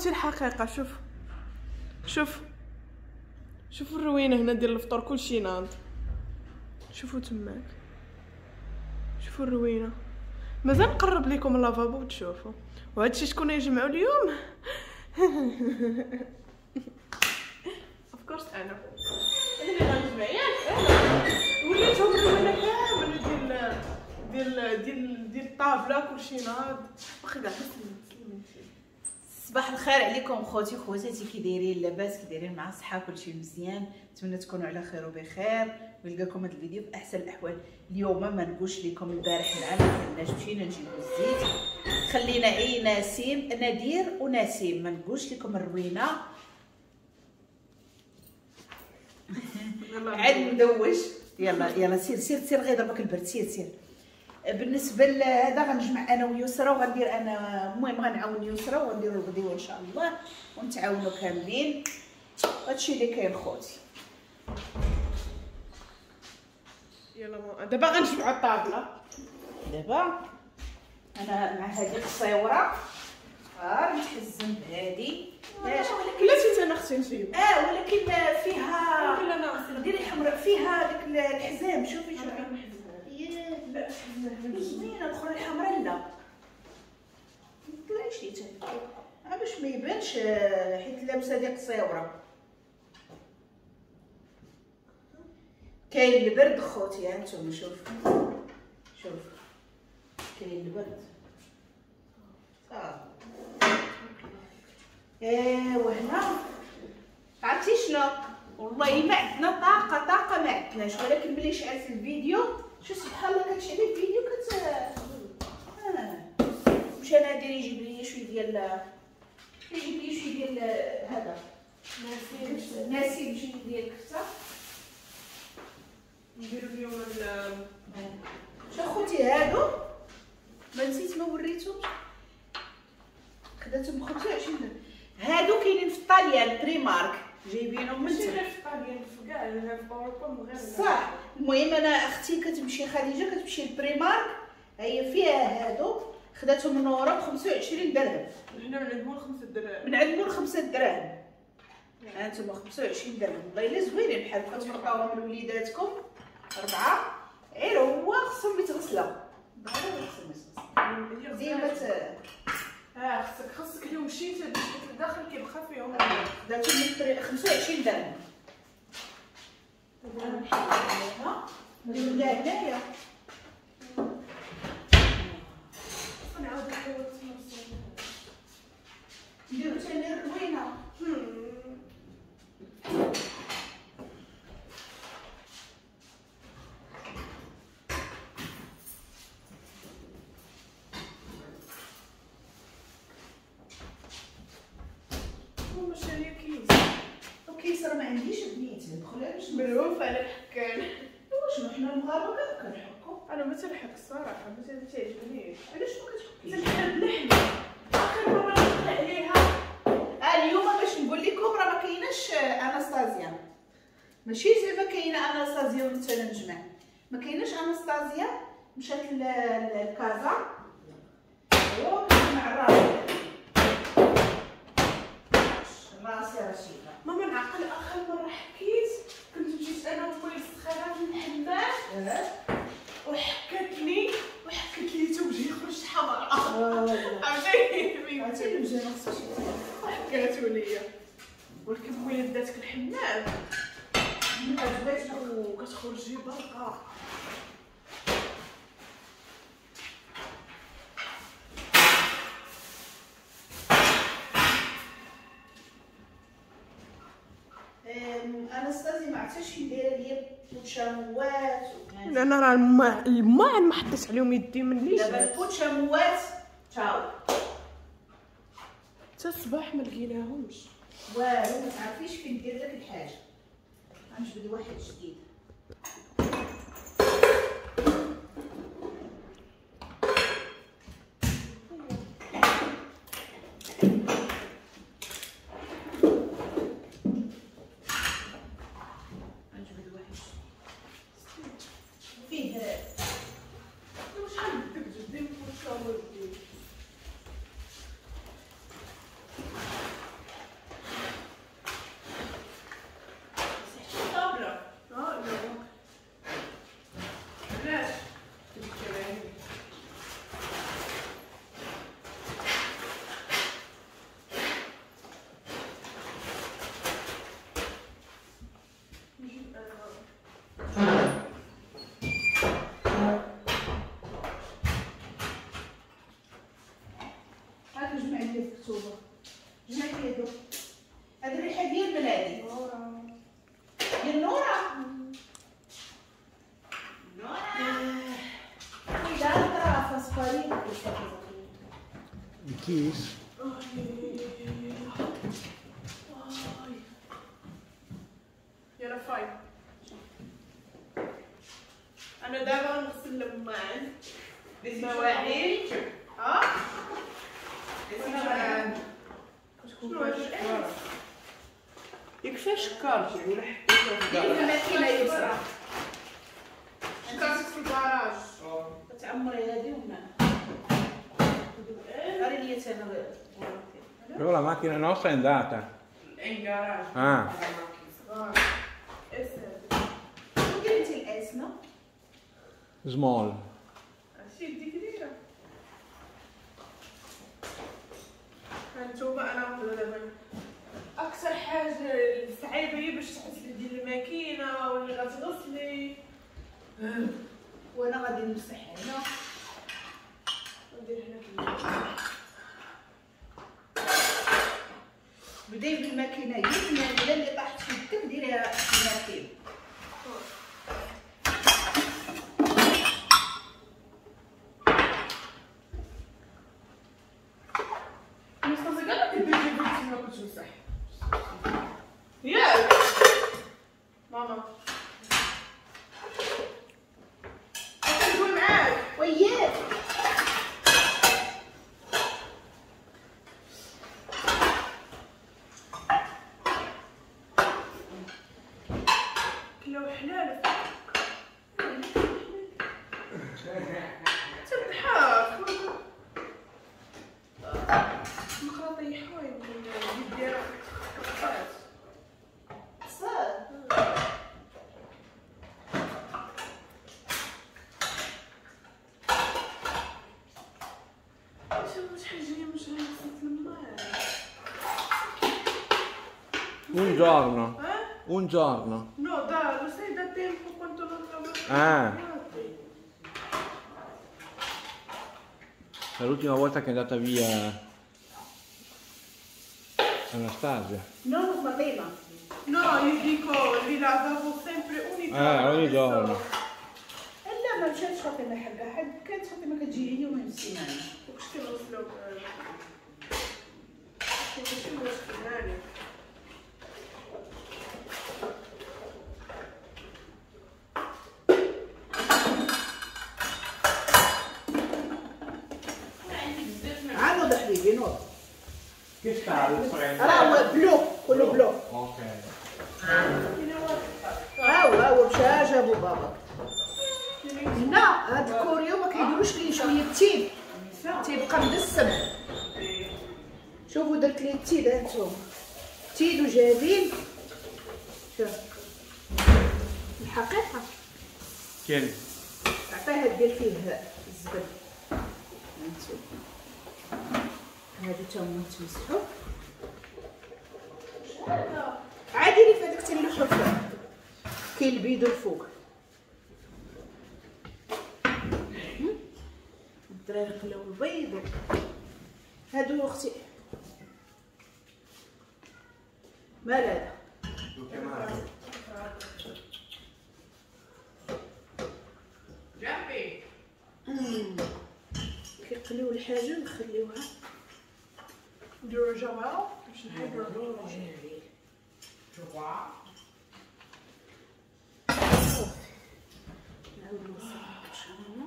الحقيقة شوف شوف شوفوا الروينه هنا ديال الفطور كلشي ناض. شوفوا تماك، شوفوا الروينه. مازال نقرب لكم اللافابو وتشوفوا. وهادشي شكون يجمعوا اليوم؟ of course انا اللي غنجمع، ياك انا وليتهم الروينه كاملة ديال ديال ديال ديال الطابله كلشي ناض. واخا كاع سلمي. صباح الخير عليكم خوتي خواتاتي، كي دايرين؟ لاباس؟ كي دايرين مع الصحة؟ كلشي مزيان؟ نتمنى تكونوا على خير وبخير ويلقاكم هذا الفيديو في احسن الاحوال. اليوم ما نقولش لكم البارح معنا كناش مشينا نجيبو الزيت، خلينا اي نسيم نادير ونسيم، ما نقولش لكم الروينه عاد ندوش. يلا يلا سير سير سير، غير ضربك البرد، سير سير. بالنسبة لهذا غنجمع انا ويسرى وغندير انا، المهم غنعاون يسرى وغنديروا الغديوه ان شاء الله ونتعاونوا كاملين. هادشي اللي كاين خوتي. يلا دابا غنجمعوا الطابله. دابا انا مع هذه القصيوره غير نتحزم بهادي. ولكن لا انا اختي نجيب ولكن فيها ديري حمراء فيها ديك الحزام. شوفي شوفي لا زوينة الاخرى الحمراء. لا طلعي شي تاني باش ما يبانش، حيت لابسه ديك قصيوره. كاين البرد خوتي، ها نتوما شوف شوف كاين البرد صافي. وهنا عرفتي شنو؟ والله ما عندنا طاقة، طاقة ما عندناش، ولكن ملي شعلت الفيديو شو سبحان الله كتشعلي الفيديو كت مشى نادر يجيب لي شوية ديال، يجيب لي شوية ديال هذا نسيم شوية ديال الكفتة نديرو اليوم. شو خوتي هادو ما نسيت ما وريتهمش، خداتهم ب 25 درهم. هادو كاينين في الطاليان Primark، جايبينهم من ماشي غير في الطاليان، في كاع في اوروبا غير صح. المهم انا اختي كتمشي خديجة كتمشي لل Primark، هي فيها هادو خداتهم من ورا ب 25 درهم. حنا من عند مول 5 دراهم، من عند مول 5 دراهم. ها انتم 25 درهم والله الا زوينين بحال هكا تلقاوهم لوليداتكم 4. غير هو خصهم يتغسلوا، ضروري خصهم يتغسلوا ديما. خصك اليوم مشيتي باش الداخل كيبقى فيهم. خداتهم 25 درهم. دابا نحيدها نديرها هنايا نعاود نحاول نتمرسو نديرو ثاني الروينه. كيس راه ما عنديش بنيتي ندخلها باش ملهوف على الحكان. شنو حنا المغاربة كنحكو؟ انا ما تنحك الصراحة، ما تعجبنيش. علاش ما كتحكيش؟ تنحب اللحمة. اخر مرة نقطع عليها اليوم باش نقول لكم راه ما كايناش اناستازيا، ماشي زعما كاينه اناستازيا وانت نجمع، ما كايناش اناستازيا. مشات لكازا هو كنجمع راسي راسي رشيده. ماما نعقل اخر مرة حكيت كنت مشيت انا ومي السخانه في الحمام وحكتني وحكت لي توجهي خرجت حمراء. عرفتي عرفتي الوجه ما خصوش وحكاتو ليا. ولكن ملي داتك الحمام وكتخرجي برقه. اناستازي ما عرفتش فين دايرة ليا البوتشاموات. انا راه الماعن ما حطيت عليهم يدي مني. دابا البوتشاموات تاو حتى الصباح ما لقيناهمش والو، ما تعرفيش فين دير لك الحاجة. غنجبد واحد جديد. هادو؟ هاد الريحة ديال من هادي؟ ديال نورا. نورا l'altra fa sparire questa cosa qui. Il kiss? يلا فاي. انا دابا نغسل الماعن المواعين. ها؟ شنو هاد يكفاش كارتي ولا حطيتها في ديري الماكينة يسرى. شكارتك في الكراج. تعمري هادي وما غير ليا انا. Però la macchina nostra è andata. È in garage. Ah. ديري ال S no؟ Small. هادشي ديك دايرة. هانتوما انا نقدر دابا اكثر حاجة صعيبة هي باش تغسلي ديال الماكينة ولا غتغسلي. وانا غادي نمسح هنا ندير هنا. بداي بالماكينه هي الماكينة اللي طاحت في يدك ديريها في الماكينة. مصطفى قال لك ديري بنتي ما كنتش نمسح ياك ماما. كنقول معاك وياك. كلاو حلال تضحك. نقرا طيحوها يمكن اليد ديالها قطعات. صح. شوف شحال جاية من شهر غسلت الماء. Un giorno. Eh? Un giorno. No, da, lo sai da tempo quanto non lavoro. Ah. L'ultima volta che è andata via Anastasia. No, Fatima. No, io dico, li lavavo sempre ogni giorno. Ah, ogni giorno. لا ما مشاتش فاطمة حقها، حد كانت فاطمة كتجي يومين في السيمانة. وكش كنغسلو ماشي مشكل هاني. عاود حبيبي نوض. Che sta il راه هو blu كله blu. Ok. ها هو ها هو مشى جابو بابا. هنا هاد الكوريو ما كيديروش ليه شوية التين تيبقى مدسم. شوفوا درت ليه التين ها انتم، تين وجافين. شوف الحقيقة كاين عطيها دير فيه الزبد. هانتوما هادو تا هما تمسحو عادي. لي فهاداك تنلوحو فيه كاين البيض الفوق. الدراري قلاو البيض هادو اختي. مال هذا؟ كيقليو الحاجة نخليوها نديرو جوال باش نحيدو جافيل. نعاود نوصل ان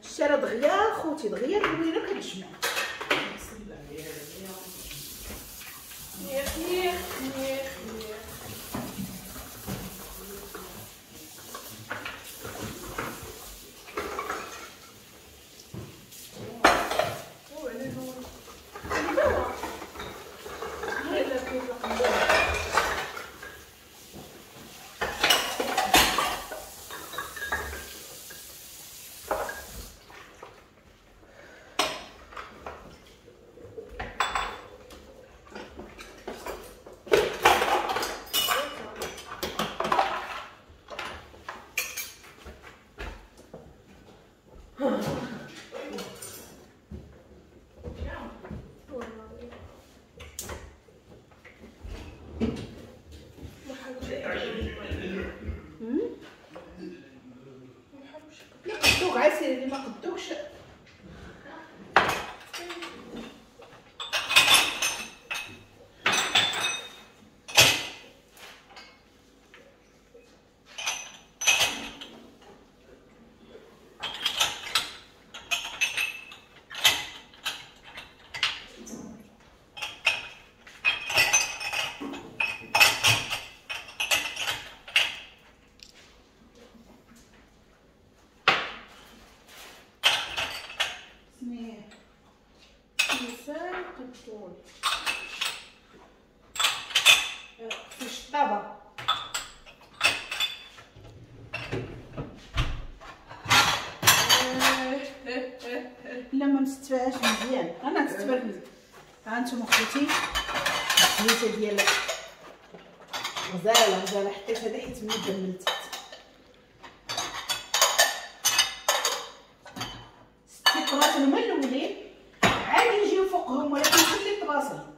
الشارع دغيا خوتي دغيا الروينه كتجمع. نيخ نيخ نيخ نيخ. خصني انسان قدون في الشطابه. لا ما مستفاهاش مزيان، انا نستفاد مزيان. ها انتم اخوتي الزيته ديال غزاله غزاله، حطيت هذا حيت مدم من التحت. ستي طباصل هما الاولين عادي نجيو فوقهم، ولكن خلي الطباصل.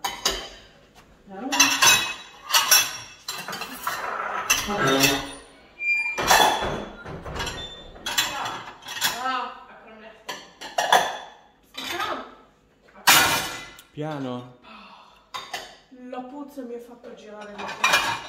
Piano. La puzza mi ha fatto girare la testa.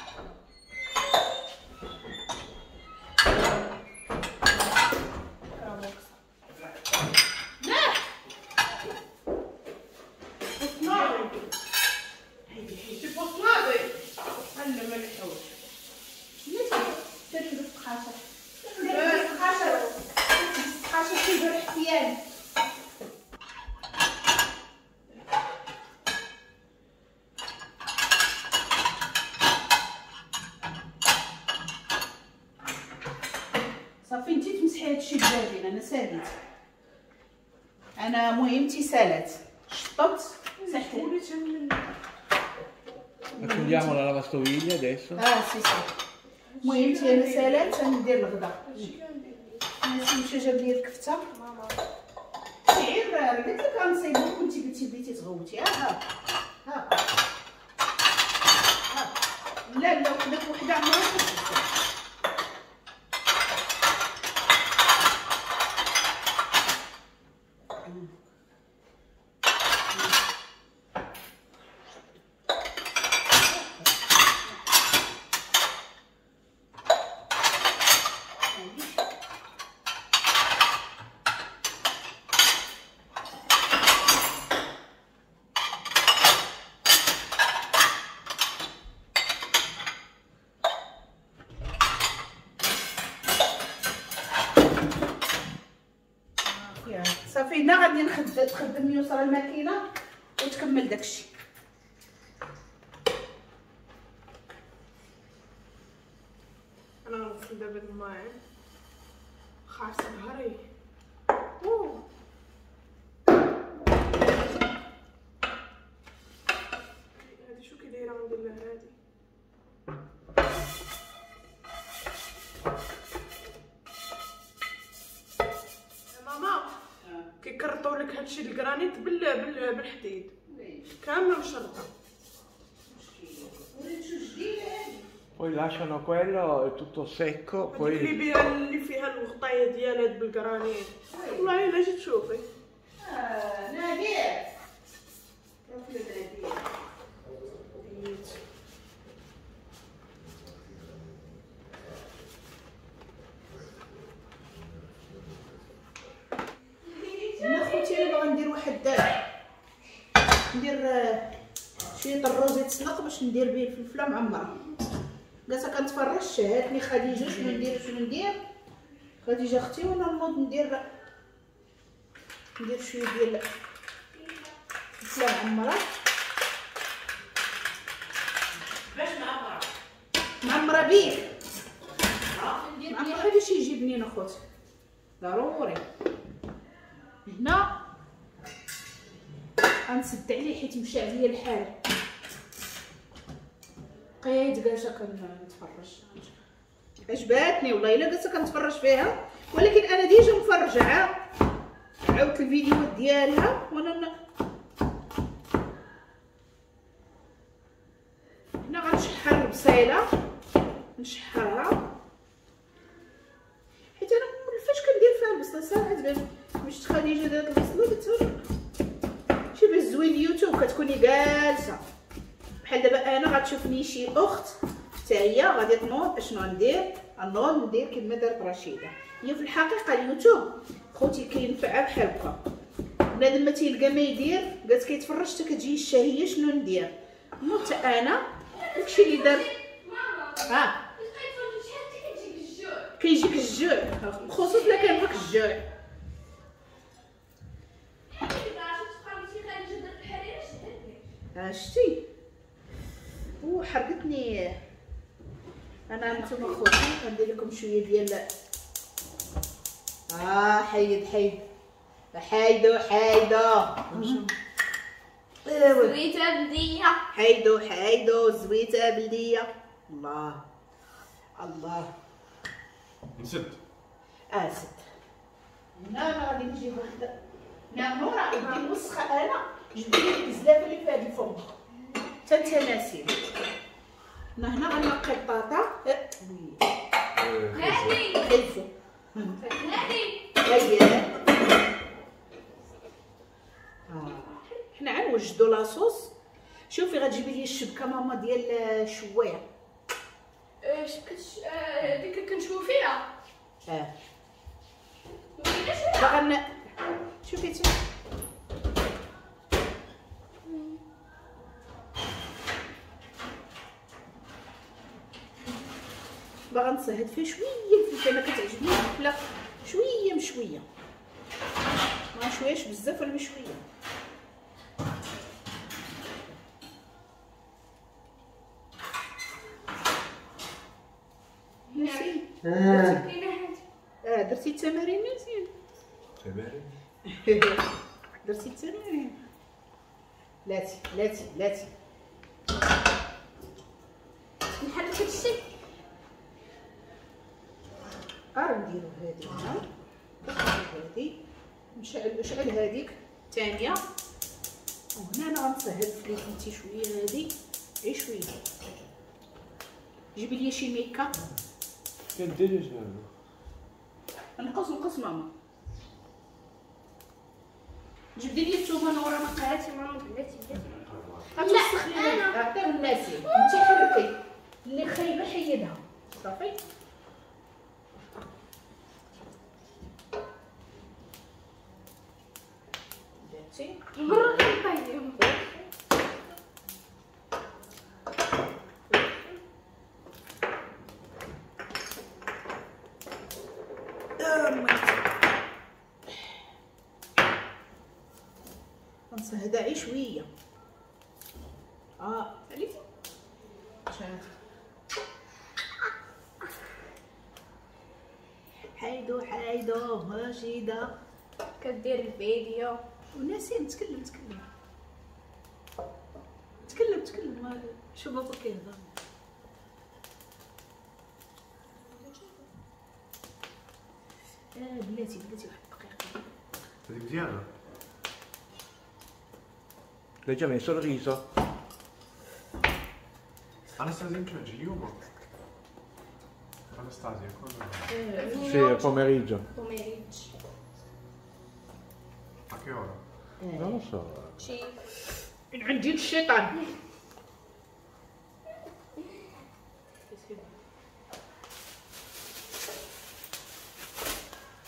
صافي انتي تمسحي هادشي بجافين. انا ساليت، انا مهمتي سالات، شطبت مسحت. Accendiamo la lavastoviglie adesso. Sì sì. مهمتي انا سالات، ندير الغدا. ناسي مشى جاب لي الكفتة. غير قلت لك غنصايبو، كنتي قلتي بغيتي تغوتي. ها ها ها لا لا، وحده وحده عمرها. صافي هنا غادي تخدم يسرى الماكينة وتكمل داكشي. انا غنغسل دابا الماعن، خاص ظهري. هادي شو كي دايرة غندير لها هادي. ماما كيكرطوا لك هادشي الكرانيت بالحديد كاملة مشرطه. Poi lasciano quello è tutto secco, poi اللي فيها الغطايه ديالها بالكرانيت. والله الا جيت تشوفي. نادير نادير. انا خوتي انا باغا ندير واحد، ندير شوية الرز يتسلق باش ندير به الفلفله معمره. جالسة كنتفرج، شهاتني خديجة شنو ندير شنو ندير. خديجة اختي وانا نوض ندير شوية ديال الفلفله معمره. باش معمره؟ معمره بيه معمره باش يجي بنين اخوتي ضروري. هنا غنسد عليه حيت مشى عليا الحال. بقيت جالسة كنتفرج، عجباتني والله الا جالسة كنتفرج فيها، ولكن انا déjà مفرجه، عاودت الفيديوهات ديالها وانا هنا غنشحر البصيله، نشحرها حيت انا فاش كندير فيها البصله صراحة مش خديجة دارت البصله قلت شي باش زوين اليوتيوب كتكوني جالسة بحال دابا انا غتشوفني شي اخت حتى هي غادي تنوض. اشنو ندير؟ نوض ندير كما دارت رشيده. هي في الحقيقة اليوتيوب خوتي كينفعها بحال هكا، بنادم ما تيلقى ما يدير، قالت كيتفرج حتى كتجي الشهية شنو ندير. نوض انا داكشي اللي دار. ها كيجيك الجوع، خصوصا الا كان فيك الجوع. شتي وحرقتني انا. نتوما خوتي غندير لكم شوية ديال حيد حيد حيدو حيدو زويته بلديه، حيدو حيدو زويته بلديه. الله الله نسد سد. هنا انا غادي نجيب وحده نورا يدي موسخه. انا جبت لي الزلافه اللي في هاد الفم حتى انت ناسين. انا هنا غنقي البطاطا. هادي خيزو هادي هيا. حنا غنوجدوا la sauce. شوفي غتجيبي لي الشبكة ماما ديال الشوايه. شبكة ديك كنشوفو فيها. باغا شوفي تما باغا نصهد فيه شوية الفلفله. انا كتعجبني الفلفله شوية مشوية، ما شوياش بزاف ولا مشوية. نسيم درتي التمارين نسيم؟ تمارين درتي التمارين؟ لاتي لاتي لاتي نحرك هادشي. نديرو هادي هنا، هادي نشعل هاديك الثانية. وهنا انا غنصهد فليفلتي شوية، هادي غير شوية. جيبي لي شي ميكا كديري شنو؟ نقص نقص ماما. جبدي لي الثومه نورا نقاتي ماما. بلاتي بلاتي غتوسخ لي. عطية الناسي انت حركي اللي خايبة حيدها صافي. بلاتي مرة كنطيب. نصهدها غير شوية. عليتي حيدو حيدو رشيده كدير الفيديو وناسين. تكلم تكلم تكلم تكلم. شو بابا كيهضر؟ بلاتي بلاتي واحد الدقيقة. هذيك مزيانه. L'hai già messo il riso? Anastasia in c'è اليوم. Anastasia cosa? Sì, al pomeriggio. Pomeriggio. A che ora? Non lo so. عندي الشيطان.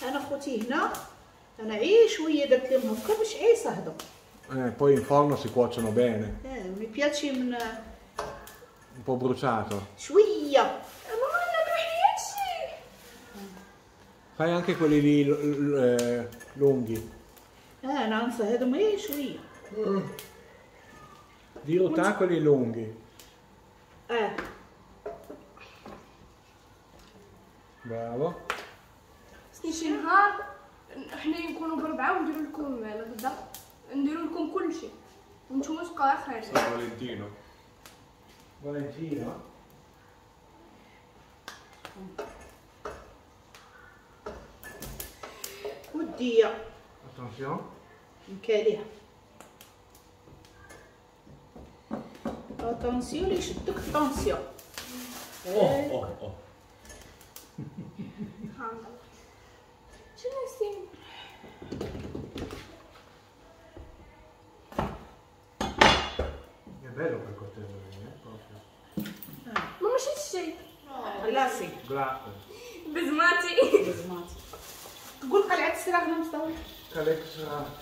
انا خوتي هنا انا عي شوية درت لهم هكا باش عي صهدوا. Poi in forno si cuociono bene. Mi piace un po' bruciato. شوية. ماما انا كحياتشي. Fai anche quelli lì lunghi. انا نصهدهم غير شوية. Dirottare quelli lunghi. Bravo. خصني شي نهار حنا نكونوا بربعه ونديروا لكم الغدا، نديروا لكم كل شيء وانتم تبقاو خارجين. فالنتينو فالنتينو وديه attention نكاليها. attention اللي يشدك attention. اوه اوه اوه شنو نسيم؟ È bello quel coltello lì, proprio. ما ماشي الشيء. glacé. glacé. بزماتي. بزماتي. تقول قلعة السراغنة مصطفى. قلعة السراغنة.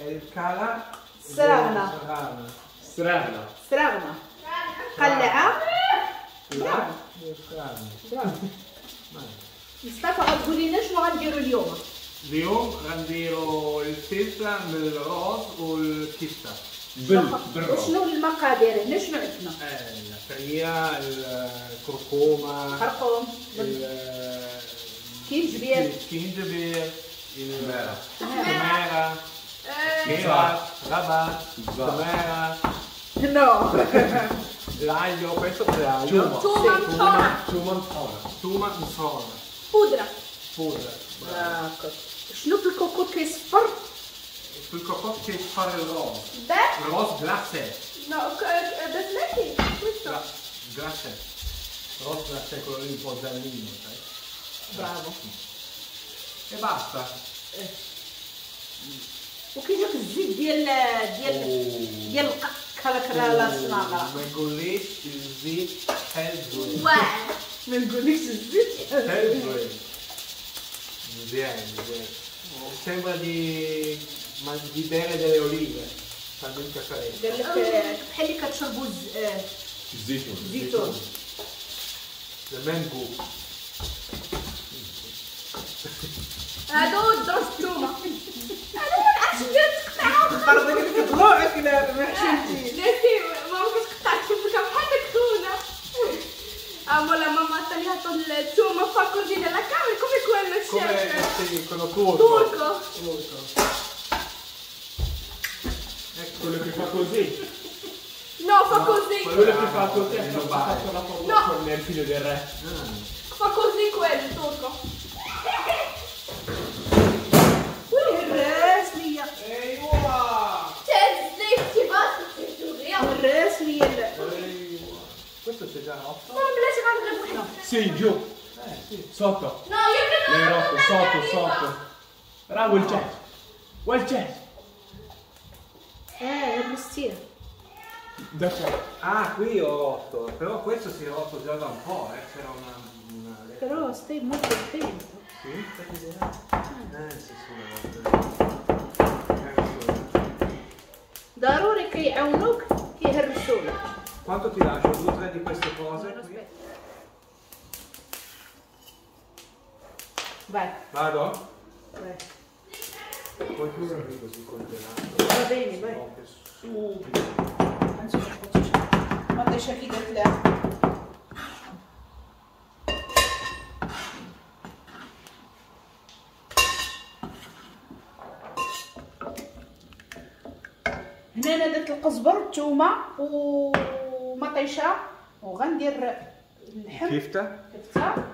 الكالا السراغنة. السراغنة. السراغنة. قلعة. لا. السراغنة. مصطفى غتقول لنا شنو غنديرو اليوم؟ اليوم غنديرو الفلفله بالرز والكفته. بالرز. وشنو المقادير هنا؟ شنو عندنا؟ العطريه، الكركومه، خرقوم، كينجبير، الكينجبير، التماره، كيرات، ربات، تماره. No. L'aglio, questo cos'è aglio? Tuma مطحونة. Tuma مطحونة. Tuma مطحونة. بودرة. Pure. هاكا. شنو في الكوكوط كيصفر؟ Sul cocotte che fare il rose. Beh, Il rose glacé. no, basmati, questo. Glacé. Rose glacé, quello lì un po' giallino, sai? برافو. E basta. وكيجيك الزيت ديال ديال ديال القك هذاك لا الصناعة. ما نقوليش الزيت شحال زوين. واعر. ما نقولكش الزيت شحال زوين. مزيان مزيان. Sembra di bere delle olive, talmente fresche. قال لك بحال اللي كتشربوا الزيتون. الزيتون. Le même goût. هادو دروس التومة. انا ما نعرفش ندير تقطعها. قرضك كطلوعك لا ما حشمتيش. ناسي ماما كتقطع الشبكة بحال داك خونا. Amo la mamma ha tagliato il tumo, fa così nella camera, come quello Come chef. sì, quello turco. Turco. Turco. Ecco. Quello che fa così. No, fa così. Quello che fa così è ha fatto la foto No. con il figlio del re. Fa così quello, turco. والهراس ليا. ايوه. تهز باش دغيا. الراس ليا. Questo c'è già rotto? Ma بلاش غنغيب وحده. Sì, giù. Sì. Sotto. No, io credo L'hai rotto, sotto, sotto. Bravo il chef. Well chef. هرستيه. Da qua. Ah, qui ho rotto, però questo si è rotto già da un po', c'era una... Però stai molto attento. Sì? Sì, sì, rotto. ضروري كيعاونوك كيهرسولك. Quanto ti lascio? 2 o 3 di queste cose qui? Vai. Vado? Vai. Poi tu qui così congelato. Va bene, vai. Subito. ما طيشه كي درت لها. هنا انا درت القزبر والثومه ومطيشه وغندير اللحم كفته كفته،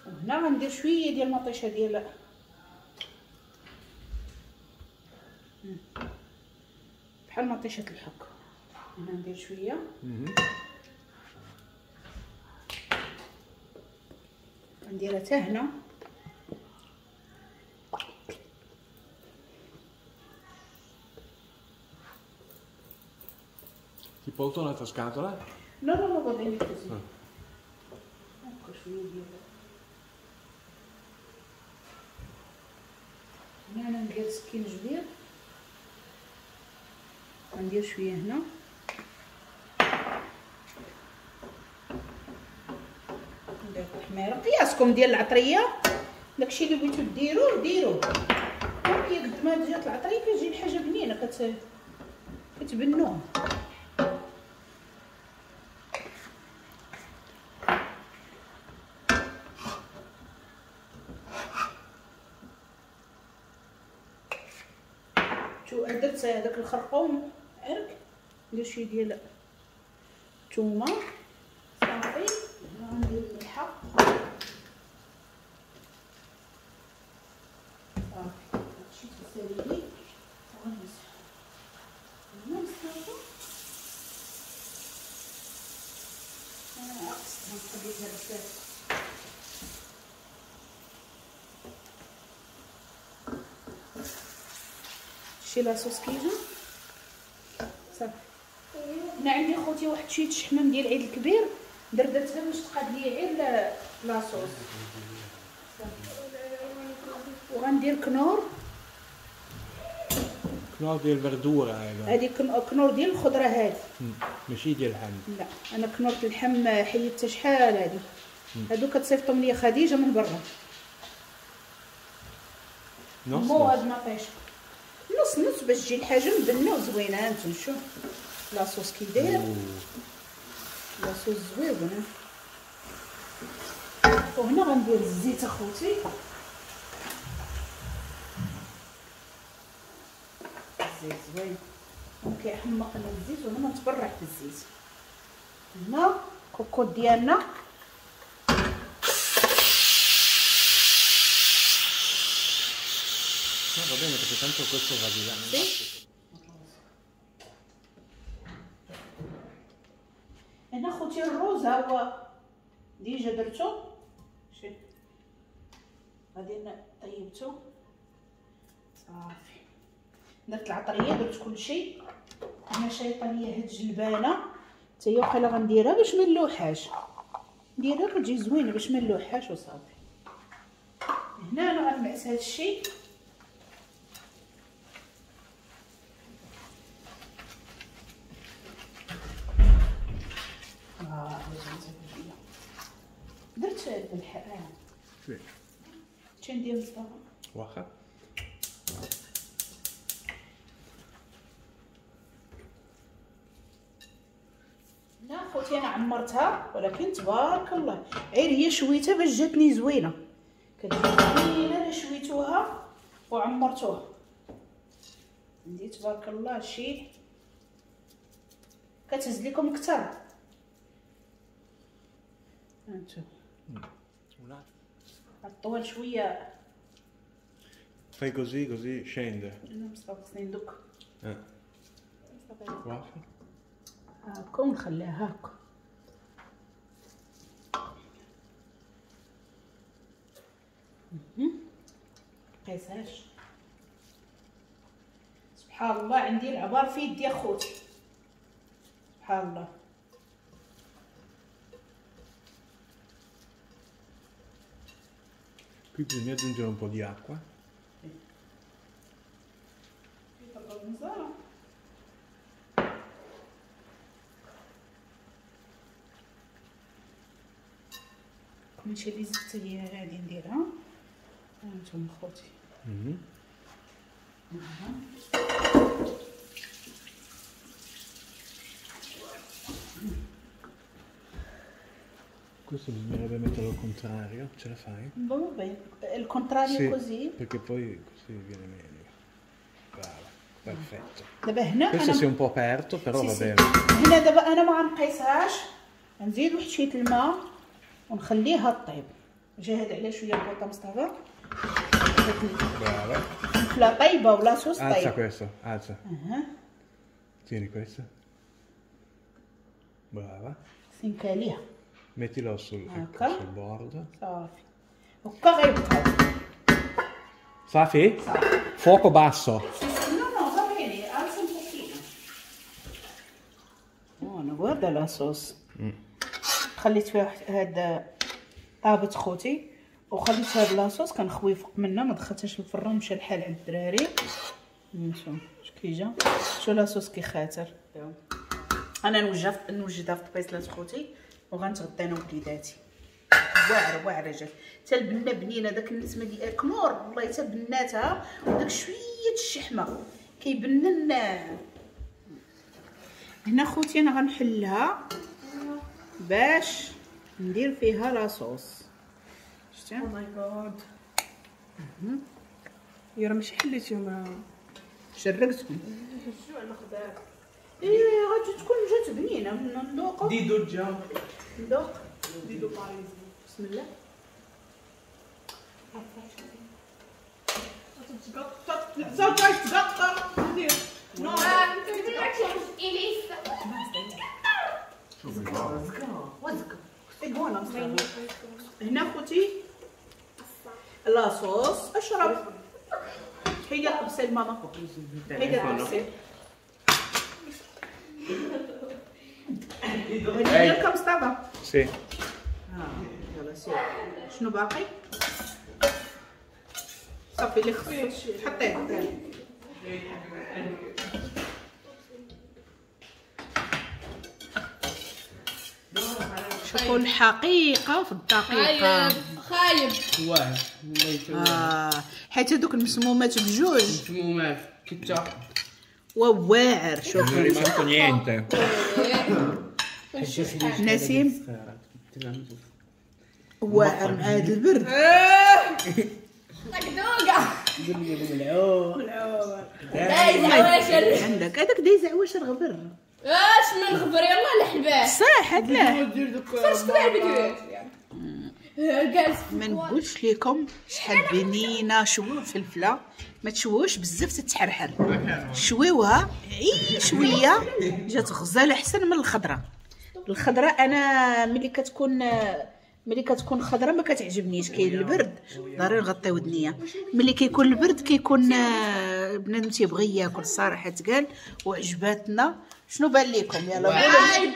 وهنا غندير شوية ديال المطيشه ديال بحال مطيشه الحك. هنا ندير شوية نديرها حتى هنا. Ti porto un'altra scatola? No, no, no, va bene così. Ecco, شوية ديال هنا. انا ندير سكينجبير، ندير شوية هنا. ندير التحميره قياسكم ديال العطريه، داكشي اللي بغيتو ديروه ديروه. ولكن قد ما جات العطريه كتجي الحاجة بنينه، كتبنوه. درت هذاك الخرقوم عرق، ندير شوية ديال الثومه صافي. هنا غندير الملحة صافي. هادشي تسالي لي وغنمسح هنا نصافي. انا عقصتها نخليها بزاف. شي la sauce كيجا صافي. هنا عندي خوتي واحد شوية الشحمه ديال العيد الكبير، دردتها باش تقاد لي غير la sauce. وغندير كنور، كنور ديال ال verdura. هذه كنور ديال الخضرة هذه، ماشي ديال اللحم. لا، انا كنور اللحم حيدتها شحال هذه. هادو كتصيفطهم ليا خديجة من برا. مو هاد مطيشه. نص نص باش تجي الحاجة مبنه وزوينه. هانتوما شوف la sauce كي داير، la sauce زوينة. وهنا غندير الزيت اخوتي، الزيت زوين وكيحمقنا الزيت، وهنا نتبرع بالزيت. هنا كوكوط ديالنا va bene perché tanto questo va di là. Sì. هنا خوتي الروز ها هو déjà درتو، شي غادي طيبتو صافي، درت العطريه درت كلشي. هنا شايطه ليا هاد الجلبانه حتى هي وقيلا غنديرها باش ما نلوحهاش، نديرها كتجي زوينة باش ما نلوحهاش وصافي. هنا انا غنمعس هاد الشيء. درت الملح. شنو ندير مصطفى؟ واخا لا خوتي انا عمرتها، ولكن تبارك الله غير هي شويتها باش جاتني زوينة، كتجي زوينة الا شويتوها وعمرتوها. عندي تبارك الله شي كتهز لكم اكثر. هانتوما الطول شوية. Fai così, così scende. انا مصطفى خصني ندك. واخا هاكا ونخليها هاكا. قيساش سبحان الله، عندي العبار في يدي اخوتي سبحان الله. Qui bisogna aggiungere un po' di acqua. ماشي اللي زدت هي غادي نديرها. هانتوما خوتي. Questo bisognerebbe metterlo al contrario, ce la fai? Va bene, il contrario sì, così? Perché poi così viene meglio. Brava, perfetto. دابا هنا questo si è un po' aperto, però sì, va sì. bene. هنا دابا انا ما غنقيسهاش، نزيد واحد شوية الماء ونخليها طيب. جهد عليها شوية البوطه مصطفى. Brava. لا طيبة ولا صوص طيب. Alza questo, alza. Tieni questo. Brava. سنكاليها. Mettilo sul, ecco, sul bordo. صافي. هكا غيبقى. صافي؟ صافي. Fuoco basso. No, no, va bene, alza un pochino. Buono, guarda la sauce. خليت فيها هاد طابت خوتي، وخليت هاد la sauce كنخوي فوق منها، ما دخلتهاش الفران، مشى الحال عند الدراري. شوف اش كيجا، شو la sauce كي خاطر. انا نوجدها في طبيصلات خوتي وغنتغدى انا ووليداتي. واعرة واعرة جات حتى البنه بنينه، داك النسمه ديال كنور والله حتى بناتها، وداك شوية الشحمه كيبنن. هنا خوتي انا غنحلها باش ندير فيها la sauce. شتي؟ oh my God، يا راه ماشي حليتيهم، شرقتهم. الجوع ناخذها. ايه غادي تكون جات بنينه. ندوق ديدو جا ندوق ديدو باريزي. بسم الله. هنا خوتي la sauce اشرب. هيدا الطبسيل ماما، هيدا الطبسيل. هادي ديالك مصطفى؟ sì. يلا سير. شنو باقي؟ صافي اللي خصو حطيه. شوفوا الحقيقة في الدقيقة. خايب واه حيت هذوك المسمومات بجوج مسمومات كتا وواعر. شوفوا نسيم واعر مع هذا البرد. عندك هذاك دايز عواشر غبر. اش من غبر؟ يلاه الحباس صح. لا فرشت كاع الفيديوهات جالس. ما نقولش لكم شحال بنينه. شووا الفلفله ما تشووش بزاف تتحرحر، شويوها عي شوية جات غزاله احسن من الخضرة. الخضرة انا ملي كتكون خضرة ما كتعجبنيش. كاين البرد ضروري نغطي ودنيا. ملي كيكون البرد كيكون بنادم تيبغي ياكل الصراحة تقال. وعجباتنا. شنو بان لكم؟ يلا قولوا. خايبة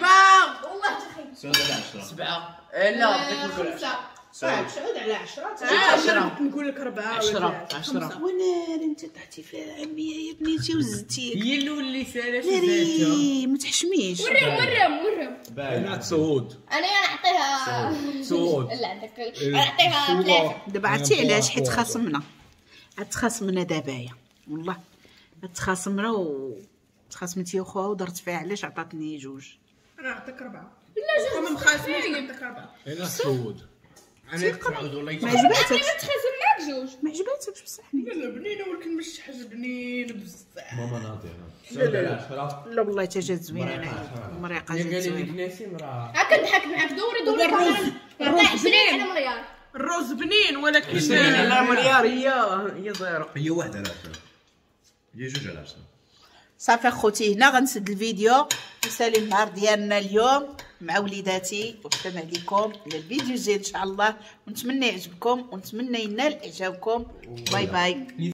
والله تخيب. 7 لا بغيت نقول 5 9 على 10. 10 نقول لك 4 10 10. وناري انت طحتي فيها عمية يا بنيتي وزدتي. هي الاولى اللي سالات. ناري ما تحشميش. وريهم وريهم. انا تسعود. انا نعطيها تسعود. لا عندك نعطيها 3. دابا عرفتي علاش؟ حيت خاصمنا، تخاصمنا دابايا والله تخاصمنا و تخاصمتي وخوها ودرت فيها. علاش عطاتني 2؟ انا نعطيك 4. لا جوج ما مخاصمينش، نعطيك 4. انا تسعود. انا تسعود والله. ما عجباتكش؟ تخاصم معاك 2. ما عجباتكش بصح؟ لا بنينه ولكن مش حاجة بنينه بزاف. ماما ناضيه. 9 على 10. لا والله حتى جات زوينة. انا مريقه جات زوينة. نسيم راه هاكا نضحك معاك. دوري دوري. الرز بنين على مليار. الرز بنين ولكن لا مليار هي zéro. هي 1 على 10. هي 2 على 10. صافي اخوتي هنا غنسد الفيديو نسالي النهار ديالنا اليوم مع وليداتي. والسلام عليكم للفيديو الجاي ان شاء الله، ونتمنى يعجبكم ونتمنى ينال اعجابكم. bye bye.